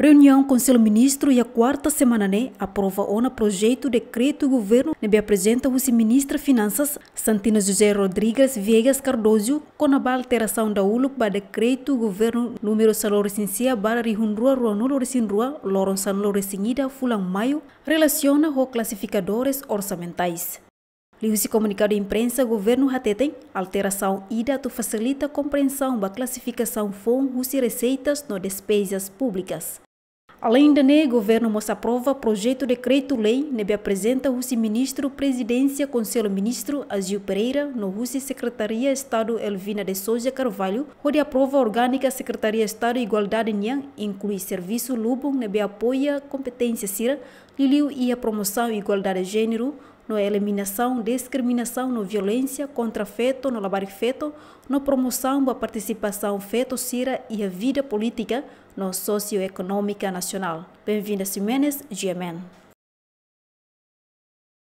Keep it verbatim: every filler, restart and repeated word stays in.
Reuniaun Konsellu Ministru iha kuarta semana ne'e aprova ona projetu dekretu governu ne'ebé aprezenta husi Ministra Finansas, Santino José Rodrigues Viegas Cardoso, kona-ba alterasaun dahuluk ba dekretu governu númeru sanulu-resin-sia barra rihun rua ruanulu-resin-rua, loron sanulu-resin-ida fulan Maiu, relasiona ho klasifikadores orsamentais. Liuhusi komunikadu imprensa, governu hateten alterasaun ida atu fasilita komprensaun ba klasifikasaun foun husi reseitas no despezas públikas. Aleinde ne'e, governu mós aprova projetu dekretu-lei ne'ebé aprezenta husi Ministru Prezidénsia Konsellu Ministru, Aziu Pereira, no husi Sekretaria Estadu, Elvina de Sousa Carvalho, hodi aprova orgánika Sekretaria Estadu Igualdade nian, inklui servisu lubun ne'ebé apoia kompeténsia sira, liuliu iha promosaun igualdade jéneru, no eliminasaun diskriminasaun no violénsia kontra feto no labarik-feto, no promosaun ba partisipasaun feto sira iha vida polítika no sosioekonómika nasionál. Benvinda Ximenes, G M N.